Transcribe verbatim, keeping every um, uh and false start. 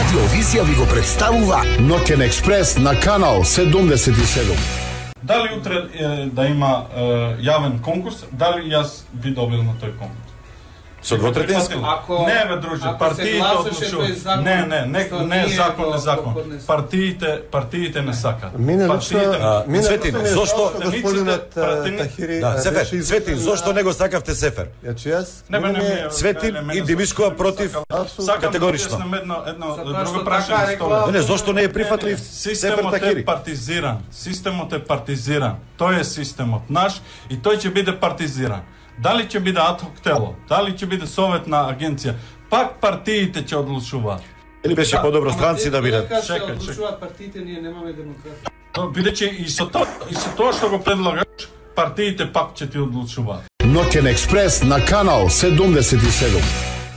Радиовизија ви го представува Ноќен експрес на канал седумдесет и седум. Дали утре е, да има е, јавен конкурс, дали јас би добил на тој конкурс? Со двотретински? Не бе, друже, партиите одлучуваат. Не, не, не, не закон, не закон. Партиите, партиите не сакаат. Мине лично, мине Цветин, зошто господинот Тахири? Да, Сефер, Цветин, зошто не го сакавте Сефер? Јачи јас Не бе, не ми Цветин и Димишкова против категорично. Едно, едно друго прашање столе. Не, не, зошто не е прифатлив Сефер Системот е Тахири? партизиран. Системот е партизиран. Тој е системот наш и тој ќе биде партизиран. Дали ќе биде адхок тело, дали ќе биде советна агенција, пак партиите ќе одлучуваат. Или беше подобро странци да бидат? Чекај, Чекај, чекај. Одлучуваат партиите, ние немаме демократија. Бидејќи и со тоа, и со тоа што го предлагаш, партиите пак ќе ти одлучуваат. Ноќен експрес на канал седумдесет и седум.